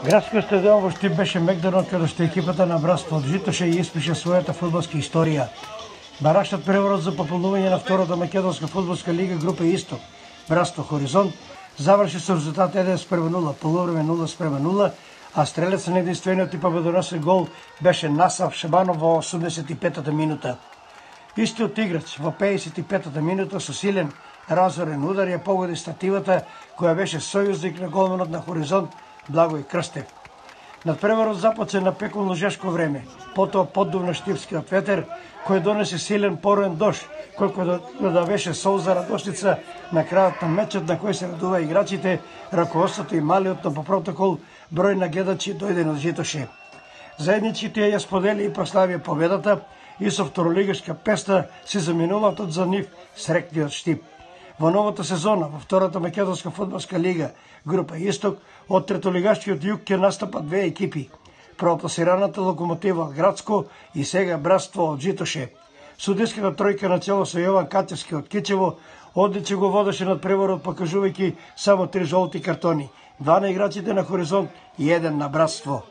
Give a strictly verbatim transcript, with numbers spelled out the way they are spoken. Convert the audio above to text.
Градскиот стадион во Штип беше мегданот каде што екипата на Братство од Житоше и испише својата фудбалска историја. Барашниот преворот за пополнување на втората македонска фудбалска лига група Исток, Братство Хоризонт, заврши со резултат еден спрема нула, полувреме нула спрема нула, а стрелец на единствениот и победоносен гол беше Насав Шабанов во осумдесет и петата минута. Истиот играч во пеесет и петата минута со силен разорен удар ја погоди стативата која беше сојузник на голманот на Хоризонт Благој Крстев. Надпреварот започна на пеколно жешко време, потоа поддувна штипскиот ветер кој донесе силен пороен дожд, колку да, да беше солза радошница на крајот на мечот на кој се радува играчите, раководството и малиот, но по протокол број на гледачи дојден од Житоше. Заеднички тие ја сподели и прославија победата и со второлигашка песна се заминуваат за нив срекниот Штип. Во новата сезона, во втората македонска фудбалска лига, група Исток, од третолигашкиот југ ќе настапат две екипи. Пропласираната Локомотива Градско и сега Братство од Житоше. Судиската тројка на чело со Јован Катевски од Кичево одлично го водеше над преворот, покажувајќи само три жолти картони, два на играчите на Хоризонт и еден на Братство.